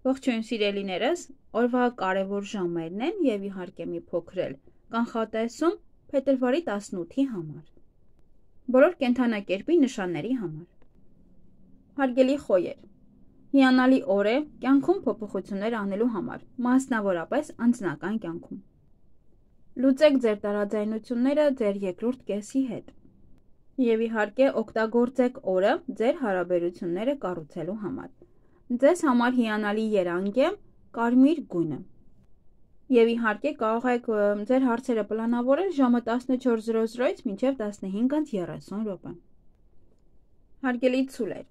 Ողջույն սիրելիներս, օրվա կարևոր ժամերն են եւ իհարկե մի փոքրել կանխատեսում փետրվարի 18-ի համար։ Բոլոր կենդանակերպի նշանների համար։ Հարգելի խոյեր, հիանալի օր է կյանքում փոփոխություններ անելու համար, մասնավորապես անձնական կյանքում։ Լուծեք ձեր տարաձայնությունները ձեր երկրորդ կեսի հետ։ Եվ իհարկե օգտագործեք օրը ձեր հարաբերությունները կառուցելու համար։ Ձեզ համար հիանալի երանգ է կարմիր գույնը։ Եվ իհարկե կարող եք ձեր հարցերը պլանավորել ժամը 14:00-ից մինչև 15:30 րոպե։ Հարգելի ցուլեր,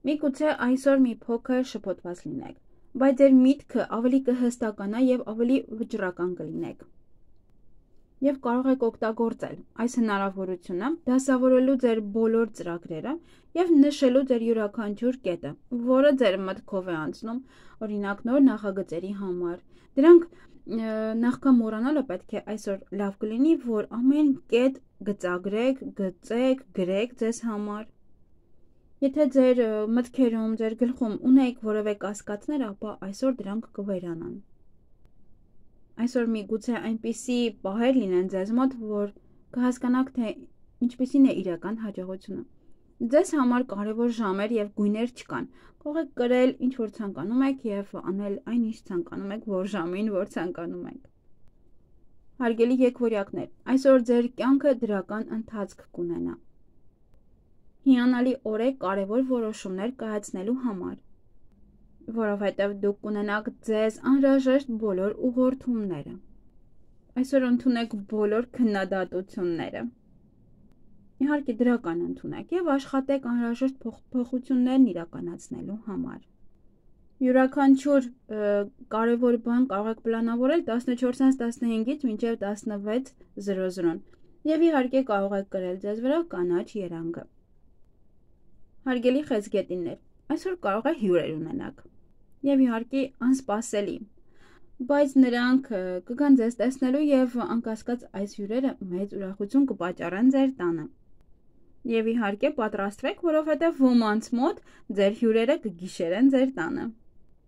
միգուցե այսօր մի փոքր շփոթված լինեք, բայց ձեր միտքը ավելի կհստականա եւ ավելի վճռական կլինեք։ Եվ կարող եք օգտագործել այս հնարավորությունը դասավորելու ձեր բոլոր ծրագրերը եւ նշելու ձեր յուրաքանչյուր կետը, որը ձեր մտքով է անցնում, օրինակ նոր նախագծերի համար։ Դրանք նախքան մոռանալը պետք է այսօր լավ կլինի, որ ամեն կետ գծագրեք, գծեք, գրեք ձեզ համար։ Եթե ձեր մտքերում, ձեր գլխում ունեք որևէ կասկածներ, ապա այսօր դրանք կվերանան։ Այսօր միգուցե այնպիսի պահեր լինեն ձեզ մոտ, որ կհասկանաք, թե ինչպիսին է իրական հաջողությունը։ Ձեզ համար կարևոր ժամեր եւ գույներ չկան։ Կարող եք կրել ինչ որ ցանկանում եք եւ անել այն ինչ ցանկանում եք, որ ժամին որ ցանկանում եք։ Հարգելի եկվորյակներ, այսօր ձեր կյանքը դրական ընթացք կունենա։ Հիանալի օր է կարևոր որոշումներ կայացնելու համար, որովհետև դուք կունենաք ձեզ անհրաժեշտ բոլոր ուղղորդումները։ Այսօր ընդունեք բոլոր քննադատությունները։ Իհարկե դրական ընդունեք եւ աշխատեք անհրաժեշտ փոփոխություններն իրականացնելու համար։ Յուրաքանչյուր կարևոր բան կարող եք պլանավորել 14:15-ից մինչև 16:00 եւ իհարկե կարող եք կրել ձեզ վրա կանաչ երանգը։ Հարգելի խեցգետիններ, այսօր կարող է հյուրեր ունենաք եւ իհարկե անսպասելի, բայց նրանք կգան ձեզ տեսնելու եւ անկասկած այս հյուրերը մեծ ուրախություն կպատճառեն ձեր տանը։ Եվ իհարկե պատրաստվեք, որովհետև ոմանց մոտ ձեր հյուրերը կգիշերեն ձեր տանը։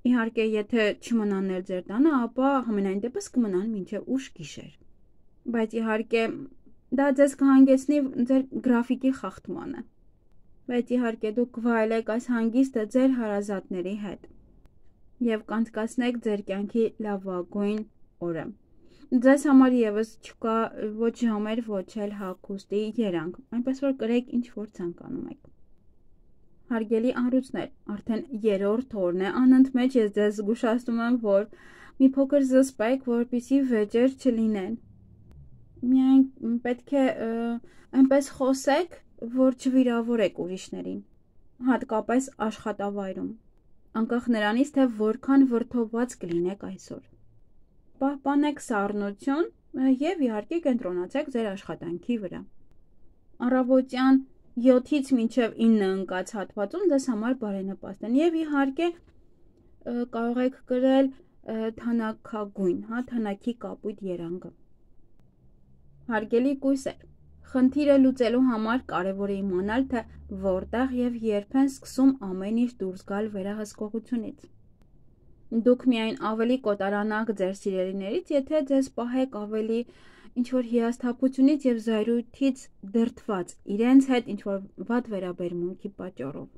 Իհարկե, եթե չմնան ձեր տանը, ապա համենայն դեպս կմնան մինչև ուշ գիշեր։ Բայց իհարկե դա ձեզ կհանգեցնի ձեր գրաֆիկի խախտմանը։ Բայց իհարկե դուք կվայելեք այս հանգիստը ձեր հարազատների հետ եւ կանցկացնեք ձեր կյանքի լավագույն օրը։ Ձեզ համար եւս չկա ոչ ժամեր, ոչ էլ հագուստի երանգ, այնպես որ կրեք ինչ որ ցանկանում եք։ Հարգելի անրուցներ, արդեն երրորդ օրն է անընդմեջ ես ձեզ զգուշացնում եմ, որ մի փոքր զսպեք, որպեսզի վեճեր չլինեն։ Միայն պետք է այնպես խոսեք, որ չվիրավորեք ուրիշներին, հատկապես աշխատավայրում, անկախ նրանից, թե որքան վրդովված կլինեք այսօր։ Պահպանեք սառնություն եւ իհարկե կենտրոնացեք ձեր աշխատանքի վրա։ Առավոտյան 7-ից մինչև 9 ընկած հատվածում ձեզ համար բարենպաստ են եւ իհարկե կարող եք կրել թանաքագույն, թանաքի կապույտ երանգը։ Հարգելի կույսեր, խնդիրը լուծելու համար կարևոր է իմանալ, թե որտեղ եւ երբ են սկսում ամեն ինչ դուրս գալ վերահսկողությունից։ Դուք միայն ավելի կոտարանաք ձեր սիրելիներից, եթե ձեզ պահեք ավելի ինչ-որ հիասթափությունից եւ զայրույթից դրդված իրենց հետ ինչ-որ վատ վերաբերմունքի պատճառով։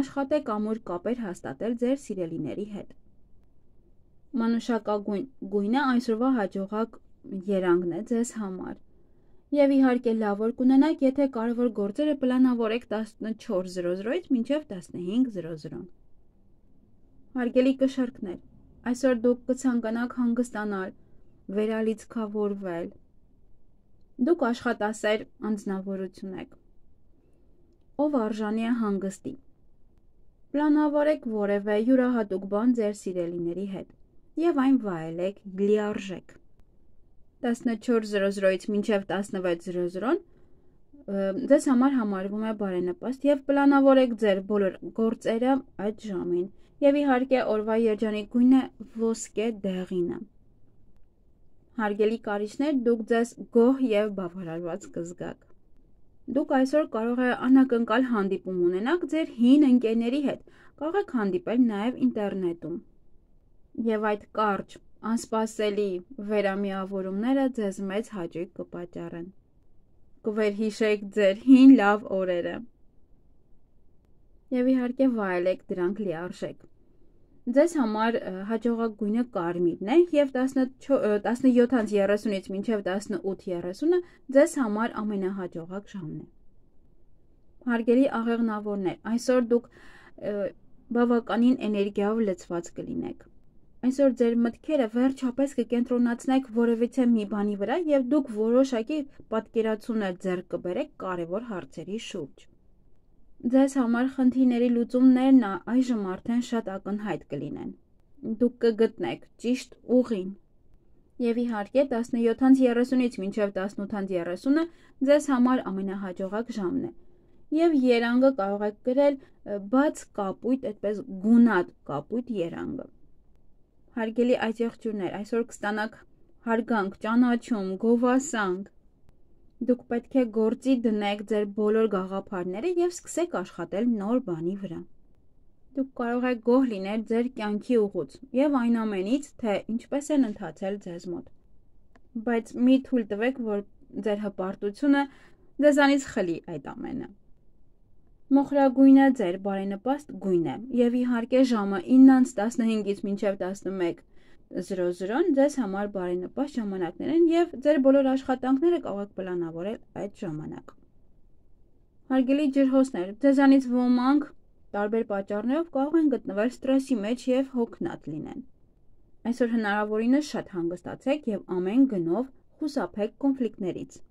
Աշխատեք ամուր կապեր հաստատել ձեր սիրելիների հետ։ Մանուշակագույն գույնը այսօրվա հաջողակ երանգն է ձեզ համար։ Եվ իհարկե լավ օր կունենաք, եթե կարևոր գործերը պլանավորեք 14:00-ից մինչև 15:00։ Հարգելի կշեռքներ, այսօր դուք կցանկանաք հանգստանալ, վերալիցքավորվել։ Դուք աշխատասեր անձնավորություն եք, ով արժանի է հանգստի։ Պլանավորեք որևէ յուրահատուկ բան ձեր սիրելիների հետ եւ այն վայելեք լիարժեք։ 14:00-ից մինչև 16:00 ձեզ համար համարվում է բարենպաստ եւ պլանավորեք ձեր բոլոր գործերը այդ ժամին։ Եվ իհարկե օրվա երջանիկ գույնը ոսկե դեղինը։ Հարգելի կարիճներ, դուք ձեզ գոհ եւ բավարարված կզգաք։ Դուք այսօր կարող եք անակնկալ հանդիպում ունենաք ձեր հին ընկերների հետ, կարող եք հանդիպել նաև ինտերնետում։ Եվ այդ կարճ, անսպասելի վերամիավորումները ձեզ մեծ հաճույք կպատճառեն։ Կվերհիշեք ձեր հին լավ օրերը։ Եվ իհարկե վայելեք դրանք լիարժեք։ Ձեզ համար հաջողակ գույնը կարմիրն է և 17:30-ից մինչև 18:30-ը ձեզ համար ամենահաջողակ ժամն է։ Հարգելի աղեղնավորներ, այսօր դուք բավականին էներգիայով լցված կլինեք։ Այսօր ձեր մտքերը վերջապես կկենտրոնացնեք որևիցե մի բանի վրա և դուք որոշակի պատկերացումներ ձեռք կբերեք կարևոր հարցերի շուրջ։ Ձեզ համար խնդիրների լուծումներն այժմ արդեն շատ ակնհայտ կլինեն։ Դուք կգտնեք ճիշտ ուղին։ Եվ իհարկե 17:30-ից մինչև 18:30-ը ձեզ համար ամենահաջողակ ժամն է։ Եվ երանգը կարող եք գրել բաց կապույտ, այդպես գունատ կապույտ երանգը։ Հարգելի այծեղջյուրներ, այսօր կստանաք հարգանք, ճանաչում, գովասանք։ Դուք պետք է գործի դնեք ձեր բոլոր գաղափարները և սկսեք աշխատել նոր բանի վրա։ Դուք կարող եք գոհ լինել ձեր կյանքի ուղուց և այն ամենից, թե ինչպես են ընթացել ձեզ մոտ։ Բայց մի թույլ տվեք, որ ձեր հպարտությունը ձեզանից խլի այդ ամենը։ Մոխրագույնը ձեր բարենպաստ գույն է և իհարկե ժամը 9:15-ից մինչև 11:00 ձեզ համար բարենպաստ ժամանակներ են և ձեր բոլոր աշխատանքները կարող եք պլանավորել այդ ժամանակ։ Հարգելի ջրհոսներ, ձեզանից ոմանք տարբեր պատճառներով կարող են գտնվել ստրեսի մեջ և հոգնած լինեն։ Այսօր հնարավորինս շատ հանգստացեք և ամեն գնով խուսափեք կոնֆլիկտներից։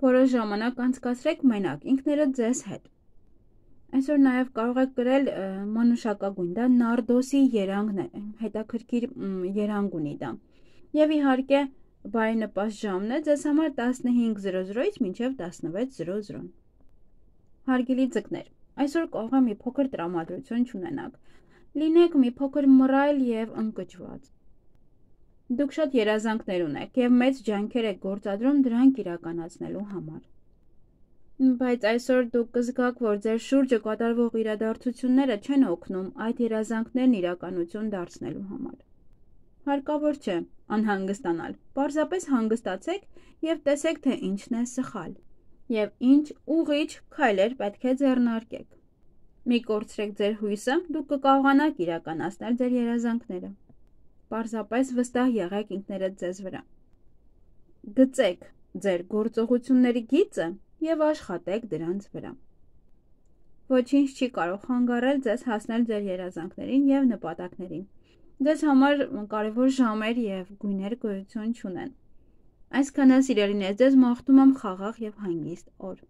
Որոշ ժամանակ անցկացրեք մենակ ինքներդ ձեզ հետ։ Այսօր նաև կարող եք գրել մանուշակագույն, դա նարդոսի երանգն է, հետաքրքիր երանգ ունի դա։ Եվ իհարկե բարենպաստ ժամն է ձեզ համար 15:00-ից մինչև 16:00։ Հարգելի ձկներ, այսօր կարող է մի փոքր տրամադրություն չունենաք։ Լինեք մի փոքր մռայլ և ընկճված։ Դուք շատ երազանքներ ունեք և մեծ ջանքեր եք գործադրում դրանք իրականացնելու համար։ Բայց այսօր դուք կզգաք, որ ձեր շուրջը կատարվող իրադարձությունները չեն օգնում այդ երազանքներն իրականություն դարձնելու համար։ Հարկավոր չէ անհանգստանալ, պարզապես հանգստացեք և տեսեք, թե ինչն է սխալ և ինչ ուղղիչ քայլեր պետք է ձեռնարկեք։ Մի կորցրեք ձեր հույսը, դուք կկարողանաք իրականացնել ձեր երազանքները։ Պարզապես վստահ եղեք ինքներդ ձեզ վրա։ Գծեք ձեր գործողությունների գիծը և աշխատեք դրանց վրա։ Ոչինչ չի կարող խանգարել ձեզ հասնել ձեր երազանքներին և նպատակներին։ Ձեզ համար կարևոր ժամեր և գույներ գոյություն չունեն։ Այսքանը սիրելիներ, ձեզ մաղթում եմ խաղաղ և հանգիստ օր։